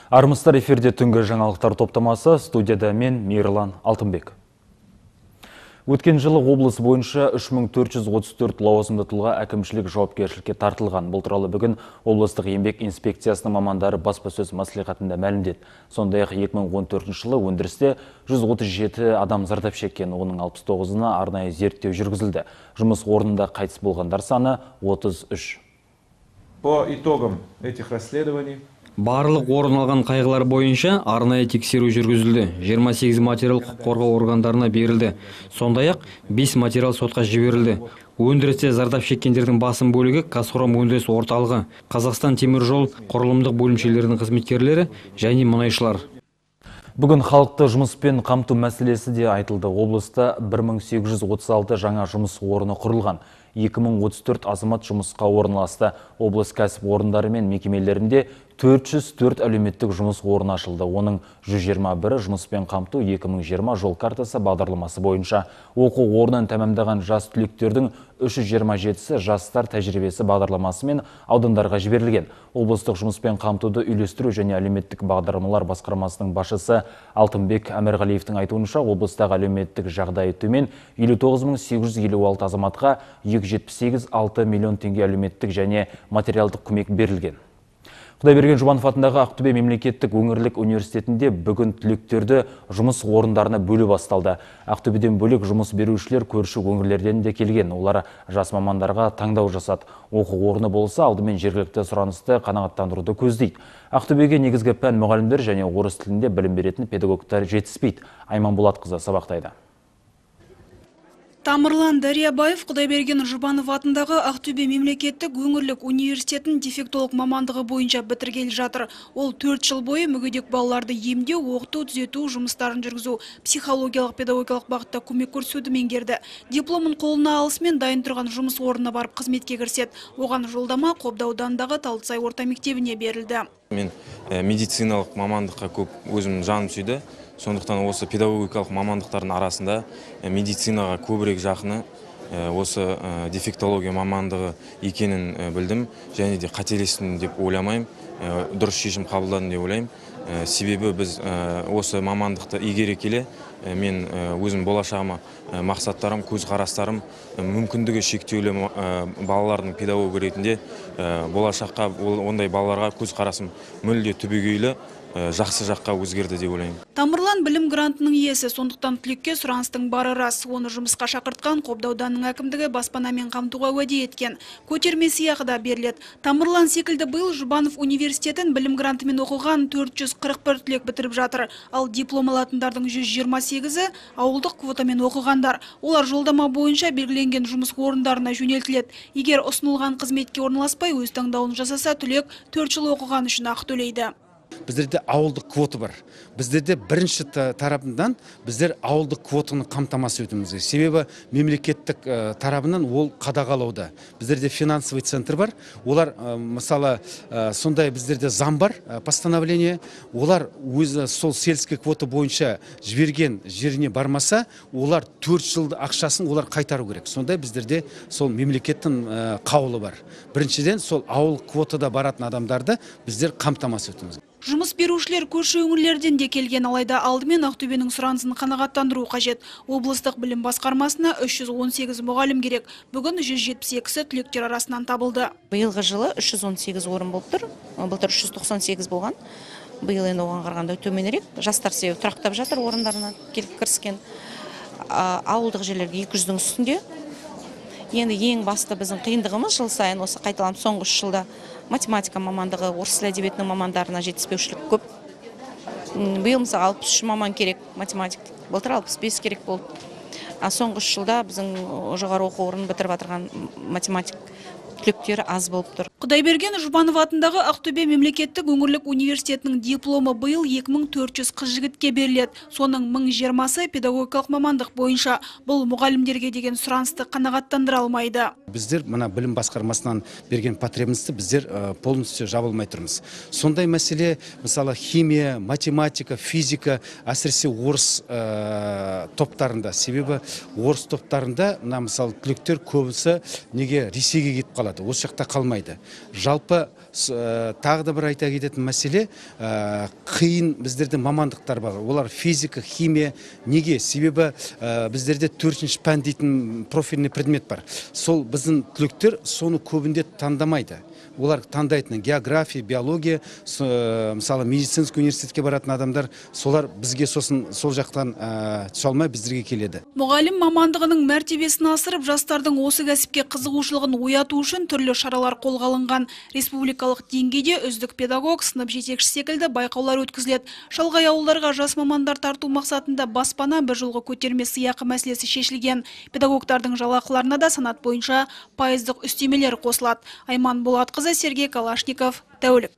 Армысыздар, эфирде түнгі жаңалықтар топтамасы, студияда мен Мейірлан Алтынбек. Өткен жылы облыс бойынша 3434 лауазымды тұлға әкімшілік жауапкершілікке тартылған. Бұл туралы бүгін облыстық еңбек инспекциясының мамандары баспасөз мәслихатында мәлімдеді. Сондай-ақ 2014 жылы өндірісте 137 адам зардап шеккен, оның 69-ына арнайы зерттеу жүргізілді. Жұмыс орнында қайтыс болғандар саны 33. По итогам этих расследований барлық орын алған қайғылар бойынша арнайы тексеру жүргізілді. 28 материал құқық қорғау органдарына берілді. Сондай-ақ 5 материал сотқа жіберілді. Өндірісте зардап шеккендердің басым бөлігі Қазхром өндіріс орталығы, Қазақстан темір жол құрылымдық бөлімшелерінің қызметкерлері және мұнайшылар. Бүгін халықты жұмыспен қамту мәселесі де айтылды. Облыста 1836 жаңа жұмыс орны құрылған. 2034 азамат жұмысқа орналасты. Облыс кәсіп орындары мен мекемелерінде 404 әлеуметтік жұмыс орны ашылды. Оның 121-і жұмыспен қамту 2020 жол картасы бағдарламасы бойынша. Оқу орнын тәмамдаған жас түлектердің 327-сі жастар тәжірибесі бағдарламасы мен аудандарға жіберілген. Облыстық жұмыспен қамтуды үйлестіру және әлеуметтік бағдарламалар басқармасының басшысы Алтынбек Әмірғалиевтің айтуынша, облыстағы әлеуметтік жағдайы төмен 59856 азаматқа 278,6 миллион теңге әлеуметтік және материалдық көмек берілген. Құдайберген Жұбанов атындағы Ақтөбе мемлекеттік өңірлік университетінде бүгін түлектерді жұмыс орындарына бөлу басталды. Ақтөбеден бөлек жұмыс берушілер көрші өңірлерден де келген. Олар жас мамандарға таңдау жасады. Оқу орны болса, алдымен жергілікті сұранысты қанағаттандыруды көздейді. Ақтөбеге негізгі пән мұғалімдер және орыс тілінде білім беретін педагогтар жетіспейді. Айман Болатқызы сабақтайды. Тамырлан Дариябаев Құдайберген Жұбанов атындағы Ақтөбе мемлекеттік өңірлік университетін дефектолог мамандығы бойынша бітіргелі жатыр. Ол 4 жыл бойы мүгедек балаларды емдеу, оқыту, түзету жұмыстарын жүргізу, психологиялық педагогикалық бағытта көмек көрсетуді меңгерді. Дипломын қолына алысымен дайын тұрған жұмыс орнына барып қызметке кіріседі. Оған жолдама Қобда ауданындағы Талдысай орта мектебіне берілді. Мен медициналық мамандыққа көп өзім жаным сүйді. Сондықтан осы педагогикалық мамандықтардың арасында медицинаға көбірек жақыны осы дефектология мамандығы екенін білдім. Және де қателестім деп ойламаймын, дұрыс шешім қабылдадым деп ойлаймын. Себебі біз осы мамандықты игере келе, мен өзім болашағыма мақсаттарым, көзқарастарым, мүмкіндігі шектеулі балалардың педагогі ретінде болашаққа ондай балаларға көзқарасым мүлде түбегейлі жақсы жаққа өзгерді деп ойлаймын. Тамырлан білім грантының иесі, сондықтан түлекке сұраныстың бары рас. Оны жұмысқа шақыртқан Қобда ауданының әкімдігі баспанамен қамтуға уәде еткен. Көтерме сыйақы да беріледі. Тамырлан секілді биыл Жұбанов университетін білім грантымен оқыған 441 түлек бітіріп жатыр. Ал диплом алатындардың 128-і ауылдық квотамен оқығандар. Олар жолдама бойынша белгіленген жұмыс орындарына жөнелтіледі. Егер ұсынылған қызметке орналаспай өз таңдауын жасаса, түлек 4 жыл оқыған үшін ақы төлейді. Біздерде ауылдық квота бар. Біздерде бірінші тарапынан біздер ауылдық квотаны қамтамасыз етуіміз керек. Себебі мемлекеттік тарапынан ол қадағалауда. Біздерде финансовый центр бар. Олар мысалы сондай біздерде заң бар, постановление. Олар өзі сол сельский квота бойынша жіберген жеріне бармаса, олар 4 жылды ақшасын олар қайтару керек. Сондай біздерде сол мемлекеттің қаулы бар. Біріншіден сол ауыл квотада баратын адамдарды біздер қамтамасыз етуіміз керек. Жұмыс берушілер көрші өңірлерден де келген, алайда алдымен Ақтөбенің сұранысын қанағаттандыру қажет. Облыстық білім басқармасына 318 мұғалім керек. Бүгін 172-сі түлектер арасынан табылды. Биылғы жылы 318 орын болып тұр. Былтыр 398 болған. Биыл енді оған қарағанда төменірек. Жастар себебі тұрақтап жатыр, орындарына келіп кіріскен. Ауылдық жерлерге 200-дің үстінде. Енді ең басты біздің қиындығымыз жыл сайын осы қайталанып соңғы 3 жылда математика мамандығы, орыс тілі әдебиетінің мамандарына жетіспеушілік көп. Биыл мысалы 63 маман керек математик, былтыр 65 керек болды. Соңғы 3 жылда біздің жоғары оқу орнын бітіріп жатырған математик түлектері аз болып тұр. Құдайберген Жұбанов атындағы Ақтөбе мемлекеттік өңірлік университетінің дипломы биыл 2400 қыз-жігітке беріледі. Соның 1020-сы педагогикалық мамандық бойынша. Бұл мұғалімдерге деген сұранысты қанағаттандыра алмайды. Біздер мына білім басқармасынан берген потребностьті біздер полностью жабылмай тұрмыз. Сондай мәселе, мысалы химия, математика, физика, әсіресе орыс топтарында. Себебі орыс топтарында, мысалы түлектер көбісі неге Ресейге кетіп қалады, осы жақта қалмайды. Жалпы Тағы да бір айта кететін мәселе, қиын біздерде мамандықтар бар. Олар физика, химия. Неге? Себебі біздерде 4-ші пән дейтін профильный предмет бар. Сол біздің түлектер соны көбінде таңдамайды. Олар таңдайтын география, биология, мысалы медицинский университетке баратын адамдар, солар бізге сосын сол жақтан түсе алмай біздерге келеді. Мұғалім мамандығының мәртебесін асырып, жастардың осы кәсіпке қызығушылығын ояту үшін түрлі шаралар қолға алынған. Республикалық деңгейде үздік педагог, сынып жетекші секілді байқаулар өткізіледі. Шалғай ауылдарға жас мамандар тарту мақсатында баспана бір жылғы көтерме сыйақы мәселесі шешілген. Педагогтардың жалақыларына да санат бойынша пайыздық үстемелер қосылады. Айман Болатқызы, Сергей Калашников, тәулік.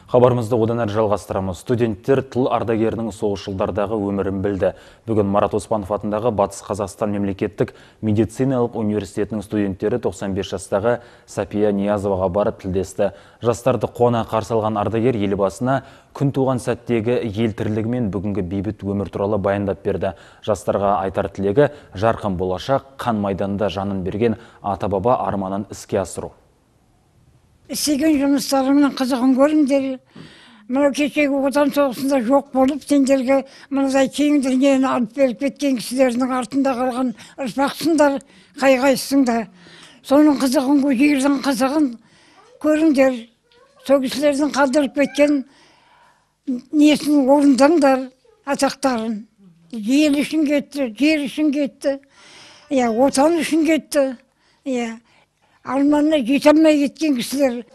Хабарымызды одан әрі жалғастырамыз. Студенттер тыл ардагерінің соғыс жылдардағы өмірін білді. Бүгін Марат Оспанов атындағы Батыс Қазақстан мемлекеттік медициналық университетінің студенттері 95 жастағы Сапия Ниязоваға барып тілдесті. Жастарды қуана қарсы алған ардагер елбасына күн туған сәттегі ел тірлігі мен бүгінгі бейбіт өмір туралы баяндап берді. Жастарға айтар тілегі жарқын болашақ, қан майданда жанын берген ата-баба арманын іске асыру. Істеген жұмыстарымның қызығын көріңдер. Мынау кешегі отан соғысында жоқ болып, сендерге мынадай кең дүниені алып беріп кеткен кісілердің артында қалған ұрпақсыңдар, қай-қайсыңдар. Соның қызығын, жердің қызығын көріңдер. Сол кісілердің қалдырып кеткен несін орындаңдар, атақтарын. Ел үшін кетті, жер үшін кетті, отан үшін кетті. Арманына жете алмай кеткен кісілер.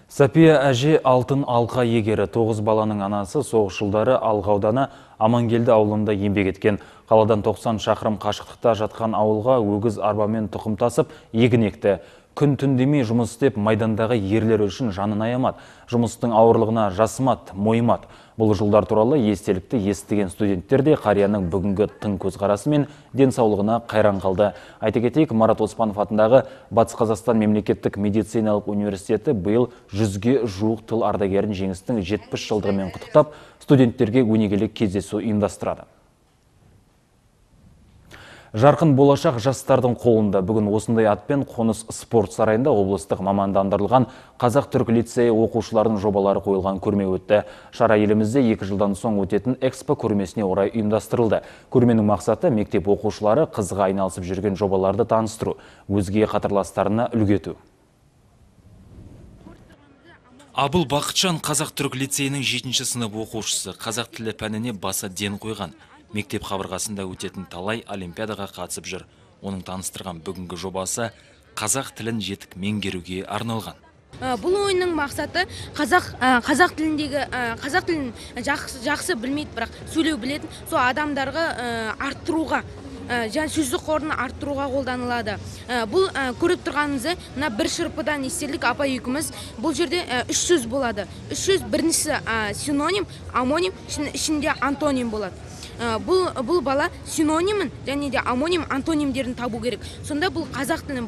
Сапия әже алтын алқа егері, 9 баланың анасы, соғыс жылдары Алға ауданы Амангелді ауылында еңбек еткен. Қаладан 90 шақырым қашықтықта жатқан ауылға өгіз арбамен тұқым тасып, егін екті. Күн түн демей жұмыс істеп, майдандағы ерлер үшін жанын аямады. Жұмыстың ауырлығына жасымады, мойымады. Бұл жылдар туралы естелікті естіген студенттер де қарияның бүгінгі тың көзқарасы мен денсаулығына қайран қалды. Айта кетейік, Марат Оспанов атындағы Батыс Қазақстан мемлекеттік медициналық университеті биыл 100-ге жуық тыл ардагерін жеңістің 70 жылдығымен құттықтап, студенттерге өнегелік кездесу ұйымдастырады. Жарқын болашақ жастардың қолында. Бүгін осындай атпен Қоныс спорт сарайында облыстық мамандандырылған Қазақ-Түрік лицейі оқушылардың жобалары қойылған көрме өтті. Шара елімізде 2 жылдан соң өтетін экспо көрмесіне орай ұйымдастырылды. Көрменің мақсаты мектеп оқушылары қызға айналысып жүрген жобаларды таныстыру, өзге қатарластарына үлгі ету. Абыл Бақытжан Қазақ-Түрік лицейінің 7-ші сынып оқушысы, қазақ тілі пәніне баса ден қойған. Мектеп қабырғасында өтетін талай олимпиадаға қатысып жүр. Оның таныстырған бүгінгі жобасы қазақ тілін жетік меңгеруге арналған. Бұл ойынның мақсаты қазақ тілін жақсы білмейді, бірақ сөйлеу білетін, сол адамдарға арттыруға, сөздік қорын арттыруға қолданылады. Бұл көріп тұрғаныңызды, мына бір шырпыдан естелік апа екеуміз, бұл жерде 3 сөз болады. 3 сөз, біріншісі синоним, амоним, ішінде антоним болады. Бұл бала синонимін және де амоним, антонимдерін табу керек. Сонда бұл қазақ тілінің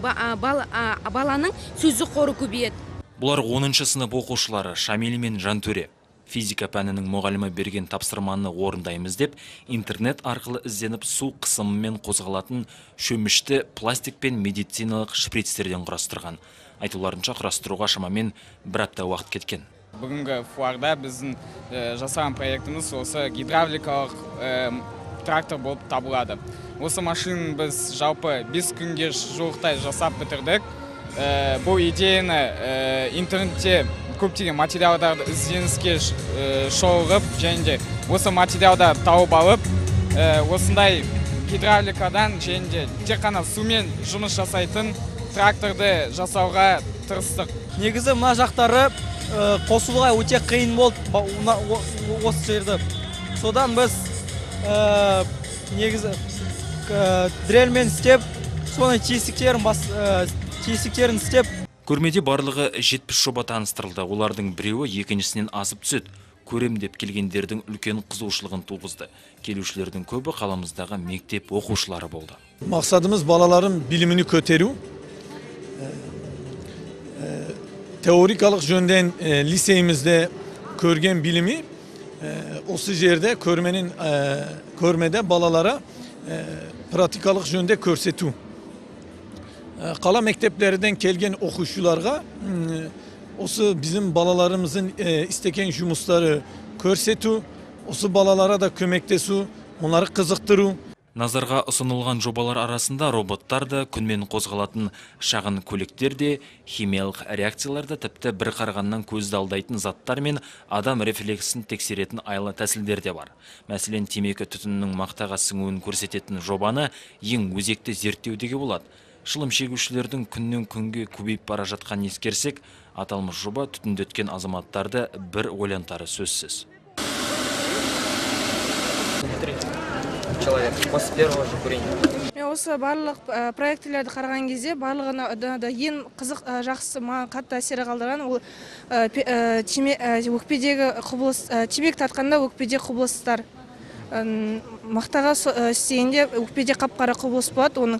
баланың сөздік қоры көбейеді. Бұлар 10-шы сынып оқушылары Шамиль мен Жантөре. Физика пәнінің мұғалімі берген тапсырманы орындаймыз деп, интернет арқылы ізденіп су қысымымен қозғалатын шөмішті пластик пен медициналық шприцтерден құрастырған. Айтуларынша құрастыруға шамамен 1 апта уақыт кеткен. Бүгінгі фуарда біздің жасаған проектіміз осы гидравликалық трактор болып табылады. Осы машинаны біз жалпы 5 күнге жуықтай жасап бітірдік. Бұл идеяны интернетте көптеген материалдарды ізденіске шолғып, және де осы материалдар тауып алып, осындай гидравликадан және де тек қана сумен жұмыс жасайтын тракторды жасауға тырыстық. Негізі мына жақтары қосылуға өте қиын болды осы жерді. Содан біз негізі дрельмен істеп, соны тесіктерін істеп. Көрмеде барлығы 70 жоба таныстырылды. Олардың біреуі екіншісінен асып түседі. Көрем деп келгендердің үлкен қызығушылығын туғызды. Келушілердің көбі қаламыздағы мектеп оқушылары болды. Мақсадымыз балалардың білімini көтеру. Teorikалық жөнден liseyimizde көрген bilimi осы жерде көрмede balalara pratikалық жөнде көрсету. Qala mekteplerinden kelgen okuşularga osu bizim balalarımızın isteken jumusları körsetu, osu balalara da kömektesu, onları kızıktırу. Назарға ұсынылған жобалар арасында роботтар да, күнмен қозғалатын шағын көліктер де, химиялық реакцияларда тіпті бір қарағаннан көзді алдайтын заттар мен адам рефлексін тексеретін айлы тәсілдер де бар. Мәселен, темекі түтінінің мақтаға сіңуін көрсететін жобаны ең өзекті зерттеудегі болады. Шылым шегушілердің күннен күнге көбейіп бара жатқанын ескерсек, аталмыш жоба түтіндеткен азаматтарды бір ойлантары сөзсіз. Человек после первого же курения. Осы барлық проектілерді қараған кезде барлығына да ең қызық жақсы маған қатты әсер қалдырған ол өкпедегі құбылыс, темекі тартқанда өкпеде құбылыстар. Мақтаға істегенде өкпеде қап-қара құбылыс болады, оның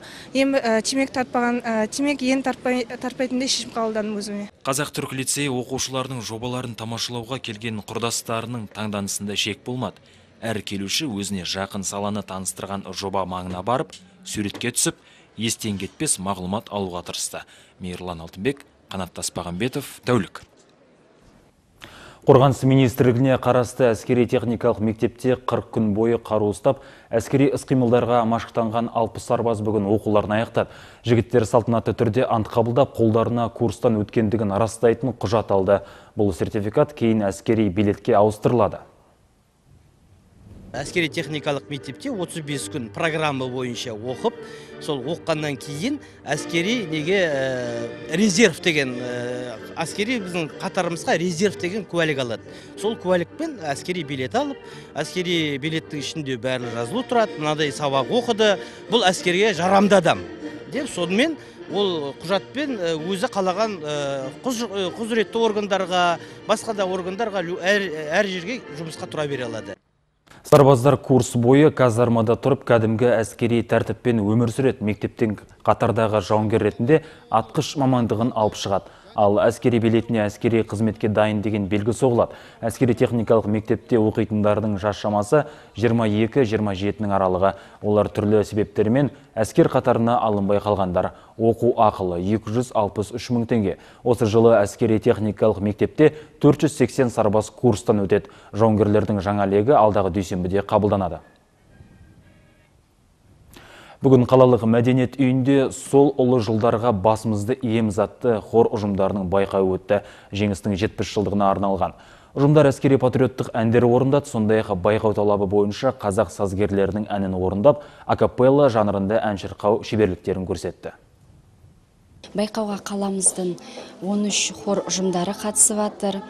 темекі ең тартпайтындай шешім қабылдадым өзіме. Қазақ-түрік лицейі оқушылардың жобаларын тамашалауға келген құрдастарының таңданысында шек болмады. Әр келуші өзіне жақын саланы таныстырған жоба маңына барып, суретке түсіп, естен кетпес мағлұмат алуға тырысты. Мейірлан Алтынбек, Қанат Таспағанбетов, Тәулік. Қорғаныс министрлігіне қарасты әскери техникалық мектепте 40 күн бойы қару ұстап, әскери іс-қимылдарға машықтанған 60 сарбаз бүгін оқуларын аяқтады. Жігіттер салтанатты түрде ант қабылдап, қолдарына курстан өткендігін растайтын құжат алды. Бұл сертификат кейін әскери билетке ауыстырылады. Әскери техникалық мектепте 35 күн программа бойынша оқып, сол оққаннан кейін әскери неге резерв деген, әскери біздің қатарымызға резерв деген куәлік алады. Сол куәлікпен әскери билет алып, әскери билеттің ішінде бәрі жазылу тұрады, мынадай сабақ оқыды, бұл әскерге жарамды адам деп, сонымен ол құжатпен өзі қалаған құзыретті органдарға, басқа да органдарға әр жерге жұмысқа тұра бере алады. Сарбаздар курс бойы казармада тұрып кәдімгі әскери тәртіппен өмір сүреді. Мектептен қатардағы жауынгер ретінде атқыш мамандығын алып шығады. Ал әскери билетіне әскери қызметке дайын деген белгі соғылады. Әскери техникалық мектепте оқитындардың жас шамасы 22-27 аралығы. Олар түрлі себептермен әскер қатарына алынбай қалғандар. Оқу ақылы 263 мың теңге. Осы жылы әскери техникалық мектепте 480 сарбаз курстан өтеді. Жауынгерлердің жаңа легі алдағы дүйсенбіде қабылданады. Бүгін қалалық мәдениет үйінде сол ұлы жылдарға басымызды иеміз атты хор ұжымдарының байқауы өтті. Жеңістің 70 жылдығына арналған. Ұжымдар әскери патриоттық әндер орындады, сондай-ақ байқау талабы бойынша қазақ сазгерлерінің әнін орындап, акапелла жанрында ән шырқау шеберліктерін көрсетті. Байқауға қаламыздың 13 хор ұжымдары қатысып жатыр.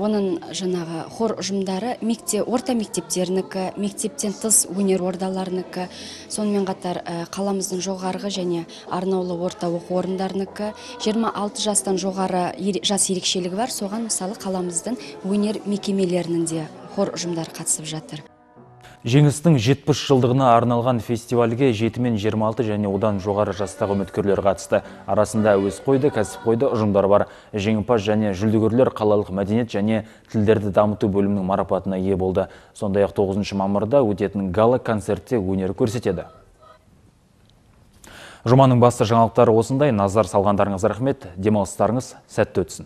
Оның жаңағы хор ұжымдары орта мектептерінікі, мектептен тыс өнер ордаларынікі, сонымен қатар қаламыздың жоғарғы және арнаулы орта оқу орындарынікі, 26 жастан жоғары жас ерекшелігі бар, соған мысалы қаламыздың өнер мекемелерінің де хор ұжымдары қатысып жатыр. Жеңістің 70 жылдығына арналған фестивальге 7 мен 26 және одан жоғары жастағы үміткерлер қатысты. Арасында әуесқойды, кәсіпқойды ұжымдар бар. Жеңімпаз және жүлдегерлер қалалық мәдениет және тілдерді дамыту бөлімінің марапатына ие болды. Сондай-ақ 9 мамырда өтетін гала концертте өнер көрсетеді. Жұманың басты жаңалықтары осындай. Назар салғандарыңыз рахмет. Демалыстарыңыз сәтті өтсін.